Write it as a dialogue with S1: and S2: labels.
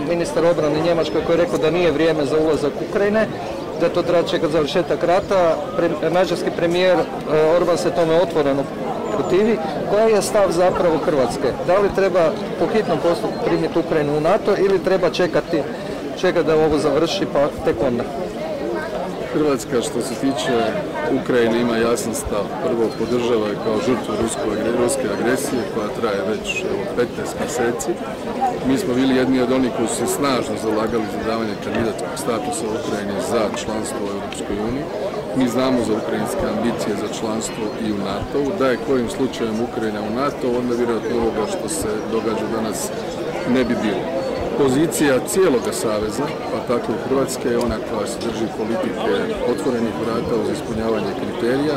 S1: Ministar obrane Njemačkoj koji je rekao da nije vrijeme za ulazak Ukrajine, da to treba čekati završetak rata. Mađarski premijer Orban se tome otvoreno protivi. Koji je stav zapravo Hrvatske? Da li treba po hitnom postupku primiti Ukrajinu u NATO ili treba čekati da ovo završi pa tek onda?
S2: Hrvatska što se tiče Ukrajine ima jasan stav. Prvo podržava je kao žrtvu ruske agresije koja traje već 15 mjeseci. Mi smo bili jedni od onih koji su se snažno zalagali za davanje kandidatskog statusa Ukrajine za članstvo u Europskoj uniji. Mi znamo za ukrajinske ambicije za članstvo i u NATO-u. Da je kojim slučajem Ukrajina u NATO, onda vjerojatno ovoga što se događa danas ne bi bilo. Pozicija cijeloga saveza, pa tako i Hrvatske, je ona koja se drži politike otvorenih vrata uz ispunjavanje kriterija.